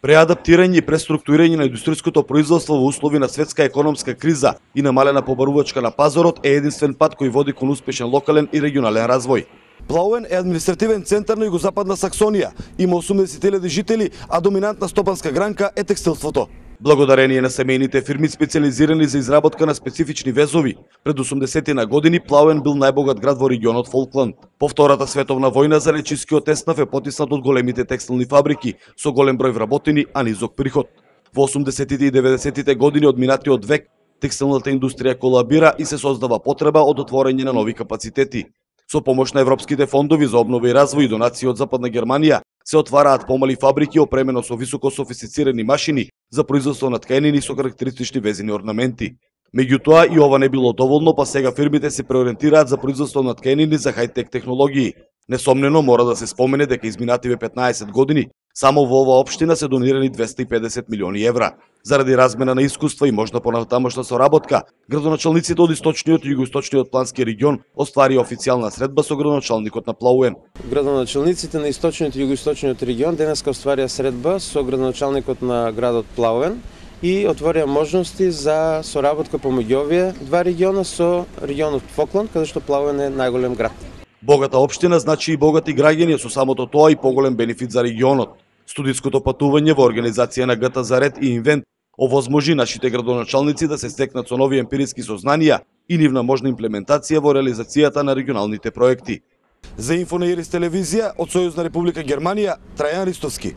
Преадаптирање и преструктурирање на индустријското производство во услови на светска економска криза и намалена побарувачка на пазарот е единствен пат кој води кон успешен локален и регионален развој. Плауен е административен центар на југозападна Саксонија, има 80.000 жители, а доминантна стопанска гранка е текстилството. Благодарение на семејните фирми специализирани за изработка на специфични везови, пред 80-ти години Плауен бил најбогат град во регионот Фолкланд. По Втората световна војна залечискиот еснав е потиснат од големите текстилни фабрики со голем број вработени, а низок приход. Во 80-тите и 90-тите години од минатиот век текстилната индустрија колабира и се создава потреба од отворање на нови капацитети. Со помош на европските фондови за обнова и развој и донации од Западна Германија се отвараат помали фабрики опремено со високо софистицирани машини за производство на тканини со карактеристични везени орнаменти. Меѓутоа и ова не било доволно, па сега фирмите се преориентираат за производство на тканини за хајтек технологии. Несомнено мора да се спомене дека изминативе 15 години само во оваа општина се донирани 250 милиони евра. Заради размена на искуства и можна понатамошна соработка, градоначалниците од источниот и југоисточниот плански регион остварија официјална средба со градоначалникот на Плауен. Градоначалниците на источниот и југоисточниот регион денеска остварија средба со градоначалникот на градот Плауен и отворија можности за соработка помеѓу овие два региона со регионот Фолкланд, каде што Плауен е најголем град. Богата општина значи и богати граѓани, со самото тоа и поголем бенефит за регионот. Студиското патување во организација на ГТ за ред и инвент овозможи нашите градоначалници да се стекнат со нови емпириски сознанија и нивна можна имплементација во реализацијата на регионалните проекти. За Инфо на Ирис телевизија од Сојузна Република Германија, Трајан Ристовски.